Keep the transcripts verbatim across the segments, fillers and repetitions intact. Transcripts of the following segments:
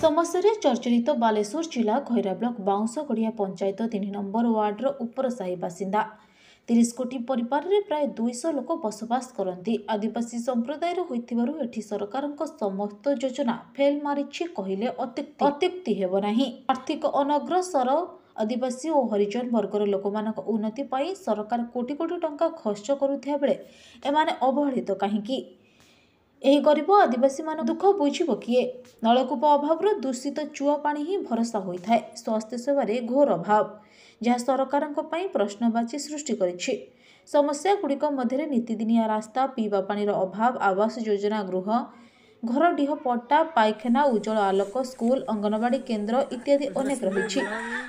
ସମସ୍ୟାରେ ଚର୍ଚ୍ଚିତ ବାଲେଶ୍ୱର ଜିଲ୍ଲା ଖଇରା ବ୍ଲକ ବାଉଁଶଗଡ଼ିଆ ପଞ୍ଚାୟତ ତିନି ନମ୍ବର ୱାର୍ଡର ଉପରସାହି ବାସିନ୍ଦା। ତିରିଶ ଗୋଟି ପରିବାରରେ ପ୍ରାୟ ଦୁଇଶହ ଲୋକ ବସବାସ କରନ୍ତି। ଆଦିବାସୀ ସମ୍ପ୍ରଦାୟର ହୋଇଥିବାରୁ ଏଠି ସରକାରଙ୍କ ସମସ୍ତ ଯୋଜନା ଫେଲ୍ ମାରିଛି କହିଲେ ଅତ୍ୟୁକ୍ତି ଅତ୍ୟୁକ୍ତି ହେବ ନାହିଁ। ଆର୍ଥିକ ଅନଗ୍ରସର ଆଦିବାସୀ ଓ ହରିଜନ ବର୍ଗର ଲୋକମାନଙ୍କ ଉନ୍ନତି ପାଇଁ ସରକାର କୋଟି କୋଟି ଟଙ୍କା ଖର୍ଚ୍ଚ କରୁଥିବା ବେଳେ ଏମାନେ ଅବହେଳିତ କାହିଁକି? ଏହି ଗରିବ ଆଦିବାସୀମାନଙ୍କ ଦୁଃଖ ବୁଝିବ କିଏ? ନଳକୂପ ଅଭାବରୁ ଦୂଷିତ ଚୁଆ ପାଣି ହିଁ ଭରସା ହୋଇଥାଏ। ସ୍ୱାସ୍ଥ୍ୟ ସେବାରେ ଘୋର ଅଭାବ, ଯାହା ସରକାରଙ୍କ ପାଇଁ ପ୍ରଶ୍ନବାଚୀ ସୃଷ୍ଟି କରିଛି। ସମସ୍ୟାଗୁଡ଼ିକ ମଧ୍ୟରେ ନିତିଦିନିଆ ରାସ୍ତା, ପିଇବା ପାଣିର ଅଭାବ, ଆବାସ ଯୋଜନା ଗୃହ, ଘରଡିହ ପଟ୍ଟା, ପାଇଖାନା, ଉଜ୍ଜଳ ଆଲୋକ, ସ୍କୁଲ, ଅଙ୍ଗନବାଡ଼ି କେନ୍ଦ୍ର ଇତ୍ୟାଦି ଅନେକ ରହିଛି,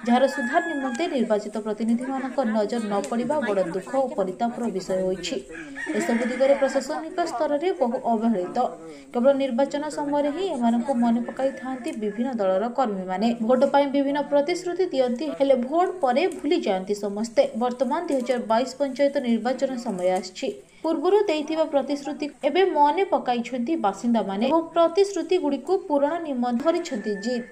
ଯାହାର ସୁଧାର ନିମନ୍ତେ ନିର୍ବାଚିତ ପ୍ରତିନିଧିମାନଙ୍କ ନଜର ନ ପଡ଼ିବା ବଡ଼ ଦୁଃଖ ଓ ପରିତାପର ବିଷୟ ହୋଇଛି। ଏସବୁ ଦିଗରେ ପ୍ରଶାସନିକ ସ୍ତରରେ ବହୁ ଅବହେଳିତ। କେବଳ ନିର୍ବାଚନ ସମୟରେ ହିଁ ଏମାନଙ୍କୁ ମନେ ପକାଇଥାନ୍ତି ବିଭିନ୍ନ ଦଳର କର୍ମୀମାନେ। ଭୋଟ ପାଇଁ ବିଭିନ୍ନ ପ୍ରତିଶ୍ରୁତି ଦିଅନ୍ତି, ହେଲେ ଭୋଟ ପରେ ଭୁଲି ଯାଆନ୍ତି ସମସ୍ତେ। ବର୍ତ୍ତମାନ ଦୁଇ ହଜାର ବାଇଶ ପଞ୍ଚାୟତ ନିର୍ବାଚନ ସମୟ ଆସିଛି। ପୂର୍ବରୁ ଦେଇଥିବା ପ୍ରତିଶ୍ରୁତି ଏବେ ମନେ ପକାଇଛନ୍ତି ବାସିନ୍ଦାମାନେ ଏବଂ ପ୍ରତିଶ୍ରୁତିଗୁଡ଼ିକୁ ପୂରଣ ନିମନ୍ତେ ଧରିଛନ୍ତି ଜିଦ୍।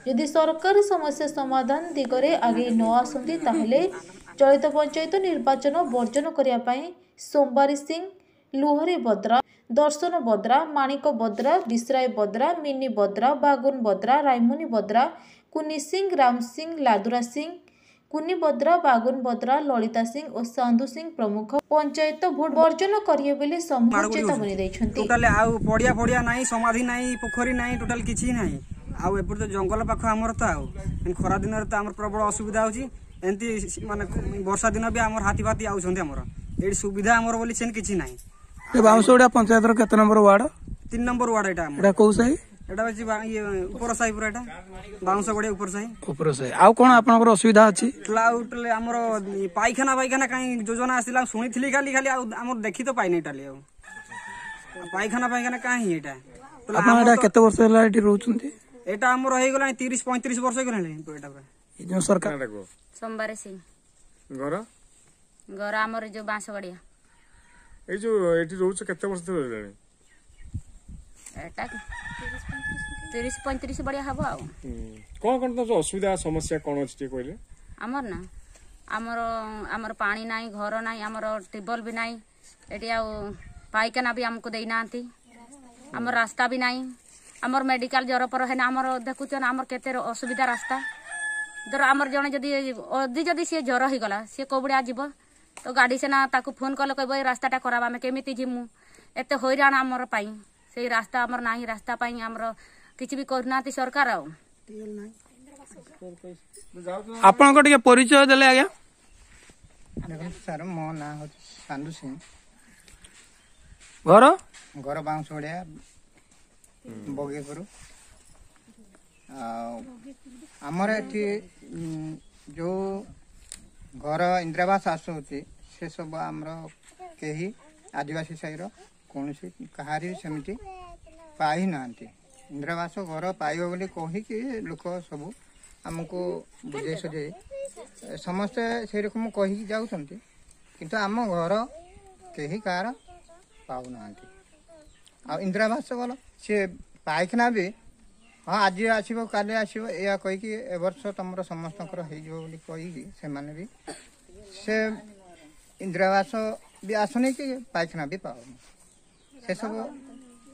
ଯଦି ସରକାର ସମସ୍ୟା ସମାଧାନ ଦିଗରେ ଆଗେଇ ନ ଆସନ୍ତି, ତାହେଲେ ଚଳିତ ପଞ୍ଚାୟତ ନିର୍ବାଚନ ବର୍ଜନ କରିବା ପାଇଁ ସୋମବାରୀ ସିଂ, ଲୁହରି ବଦ୍ରା, ଦର୍ଶନ ବଦ୍ରା, ମାଣିକ ବଦ୍ରା, ବିଶ୍ରାୟ ବଦ୍ରା, ମିନି ବଦ୍ରା, ବାଗୁନ ବଦ୍ରା, ରାଇମୁନି ବଦ୍ରା, କୁନି ସିଂ, ରାମ ସିଂ, ଲାଦୁରା ସିଂ, କୁନି ବଦ୍ରା, ବାଗୁନ ବଦ୍ରା, ଲଳିତା ସିଂ ଓ ସାନ୍ଧୁ ସିଂ ପ୍ରମୁଖ ପଞ୍ଚାୟତ ଭୋଟ ବର୍ଜନ କରିବେ ବୋଲି ସମୂହ ଚେତାବନୀ ଦେଇଛନ୍ତି। ଟୋଟାଲ ଆଉ ପଡିଆ ଫଡିଆ ନାହିଁ, ସମାଧି ନାହିଁ, ପୋଖରୀ ନାହିଁ, ଟୋଟାଲ କିଛି ନାହିଁ। ଆଉ ଏପଟେ ତ ଜଙ୍ଗଲ ପାଖ ଆମର ତ, ଆଉ ଖରା ଦିନରେ ତ ଆମର ପ୍ରବଳ ଅସୁବିଧା ହଉଛି। ଏମିତି ମାନେ ବର୍ଷା ଦିନ ବି ଆମର ହାତୀ ଫାତି ଆଉଛନ୍ତି। ଆମର ଏଇଠି ସୁବିଧା ଆମର ବୋଲି ସେମିତି କିଛି ନାହିଁ। ବାଉଁଶଗଡ଼ିଆ ପଞ୍ଚାୟତର କେତେ ନମ୍ବର ୱାର୍ଡ? ତିନି ନମ୍ବର ୱାର୍ଡ ଏଇଟା ଆମର। ଏଇଟା କୋଉ ସାହି? ଏଇଟା ହଉଛି ଇଏ ଉପର ସାହି ପୁରା, ଏଇଟା ବାଉଁଶଗଡ଼ିଆ ଉପର ସାହି। ଉପର ସାହି। ଆଉ କଣ ଆପଣଙ୍କର ଅସୁବିଧା ଅଛି? ଆଉ ଆମର ପାଇଖାନା ଫାଇଖାନା କାହିଁ ଯୋଜନା ଆସିଲା ଶୁଣିଥିଲି ଖାଲି ଖାଲି, ଆଉ ଆମର ଦେଖି ତ ପାଇନି ଟୋଟାଲି। ଆଉ ପାଇଖାନା ଫାଇଖାନା କାହିଁ ଏଇଟା? ଆପଣ ଏଇଟା କେତେ ବର୍ଷ ହେଲା ଏଠି ରହୁଛନ୍ତି? ଏଇଟା ଆମର ହେଇଗଲାଣି ତିରିଶ ପଇଁତିରିଶ ବର୍ଷ ହେଇଗଲାଣି ଏଇଟା ପୁରା। ଏଇ ଯୋଉ ସରକାର ସୋମବାର ସିଂ। ଘର? ଘର ଆମର ଯୋଉ ବାଁଶଗଡ଼ିଆ। ଏଇ ଯୋଉ ଏଠି ରହୁଛ କେତେ ବର୍ଷ ଧରି ରହିଲାଣି? ଏଟା ତିରିଶ ପଇଁତିରିଶ ବଢିଆ ହବ। ଆଉ କଣ କଣ ତମ ଅସୁବିଧା ସମସ୍ୟା କଣ ଅଛି ଟିକେ କହିଲେ? ଆମର ନା ଆମର ଆମର ପାଣି ନାହିଁ, ଘର ନାହିଁ, ଆମର ଟ୍ୟୁବୱେଲ୍ ବି ନାହିଁ ଏଠି, ଆଉ ପାଇଖାନା ବି ଆମକୁ ଦେଇନାହାନ୍ତି, ଆମର ରାସ୍ତା ବି ନାହିଁ, ଆମର ମେଡିକାଲ ଜ୍ୱର ପର ହେଲେ ଆମର ଦେଖୁଛନ୍ ଆମର କେତେ ଅସୁବିଧା ରାସ୍ତା। ଧର ଆମର ଜଣେ ଯଦି ଅଧି ଯଦି ସିଏ ଜ୍ୱର ହେଇଗଲା, ସିଏ କୋଉ ଭଳିଆ ଯିବ? ତ ଗାଡ଼ି ସିନା ତାକୁ ଫୋନ କଲେ କହିବ ଏ ରାସ୍ତାଟା ଖରାପ, ଆମେ କେମିତି ଯିମୁ? ଏତେ ହଇରାଣ ଆମର ପାଇଁ ସେଇ ରାସ୍ତା ଆମର ନାହିଁ। ରାସ୍ତା ପାଇଁ ଆମର କିଛି ବି କରୁନାହାନ୍ତି ସରକାର। ଆଉ ଆପଣଙ୍କ ଟିକେ ପରିଚୟ ଦେଲେ ଆଜ୍ଞା। ଦେଖନ୍ତୁ ସାର୍, ମୋ ନାଁ ହେଉଛି ସାନ୍ଧୁ ସିଂ। ଘର? ଘର ବାଉଁଶଗଡ଼ିଆ ବଗେଇପୁର। ଆଉ ଆମର ଏଠି ଯେଉଁ ଘର ଇନ୍ଦିରାବାସ ଆସୁଛି, ସେସବୁ ଆମର କେହି ଆଦିବାସୀ ସାହିର କୌଣସି କାହାରି ବି ସେମିତି ପାଇନାହାନ୍ତି। ଇନ୍ଦିରାବାସ ଘର ପାଇବ ବୋଲି କହିକି ଲୋକ ସବୁ ଆମକୁ ବୁଝେଇ ସୁଝେଇ ସମସ୍ତେ ସେଇରକମ କହିକି ଯାଉଛନ୍ତି, କିନ୍ତୁ ଆମ ଘର କେହି କାହାର ପାଉନାହାନ୍ତି। ଆଉ ଇନ୍ଦିରାବାସ ଗଲ ସିଏ ପାଇଖାନା ବି ହଁ ଆଜି ଆସିବ କାଲି ଆସିବ ଏଇଆ କହିକି, ଏ ବର୍ଷ ତମର ସମସ୍ତଙ୍କର ହେଇଯିବ ବୋଲି କହିକି ସେମାନେ ବି ସେ ଇନ୍ଦିରାବାସ ବି ଆସୁନି କି ପାଇଖାନା ବି ପାଉନି। ସେସବୁ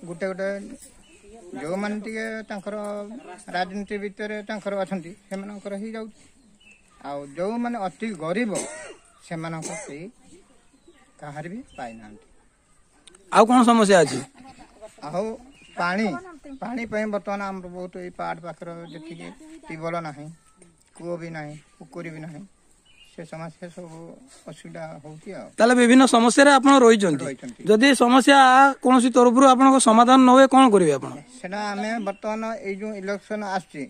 ଗୋଟେ ଗୋଟେ ଯେଉଁମାନେ ଟିକେ ତାଙ୍କର ରାଜନୀତି ଭିତରେ ତାଙ୍କର ଅଛନ୍ତି, ସେମାନଙ୍କର ହେଇଯାଉଛି, ଆଉ ଯେଉଁମାନେ ଅତି ଗରିବ ସେମାନଙ୍କ କେହି କାହାର ବି ପାଇନାହାନ୍ତି। ଆଉ କଣ ସମସ୍ୟା ଅଛି? ଆଉ ପାଣି, ପାଣି ପାଇଁ ବର୍ତ୍ତମାନ ଆମର ବହୁତ ଏଇ ପାହାଡ଼ ପାଖରେ ଯେତିକି ଟ୍ୟୁବୱେଲ୍ ନାହିଁ, କୂଅ ବି ନାହିଁ, ପୋଖରୀ ବି ନାହିଁ, ସେ ସମସ୍ୟା ସବୁ ଅସୁବିଧା ହଉଛି। ଆଉ ତାହେଲେ ବିଭିନ୍ନ ସମସ୍ୟାରେ ଆପଣ ରହିଛନ୍ତି। ରହିଛନ୍ତି। ଯଦି ସମସ୍ୟା କୌଣସି ତରଫରୁ ଆପଣଙ୍କ ସମାଧାନ ନ ହୁଏ, କଣ କରିବେ ଆପଣ? ସେଟା ଆମେ ବର୍ତ୍ତମାନ ଏଇ ଯୋଉ ଇଲେକ୍ସନ ଆସୁଛି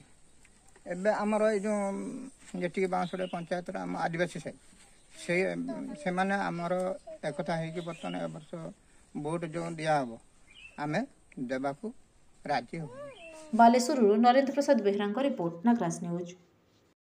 ଏବେ, ଆମର ଏଇ ଯୋଉ ଯେତିକି ବାଉଁଶଗଡ଼ିଆ ପଞ୍ଚାୟତର ଆମ ଆଦିବାସୀ ସାହି, ସେ ସେମାନେ ଆମର ଏକତା ହେଇକି ବର୍ତ୍ତମାନ ଏ ବର୍ଷ ଭୋଟ ଯୋଉ ଦିଆହବ ଆମେ ଦେବାକୁ ରାଜି ହବୁ। ବାଲେଶ୍ୱରରୁ ନରେନ୍ଦ୍ର ପ୍ରସାଦ ବେହେରାଙ୍କ ରିପୋର୍ଟ, ନାଗରାଜ ନ୍ୟୁଜ୍।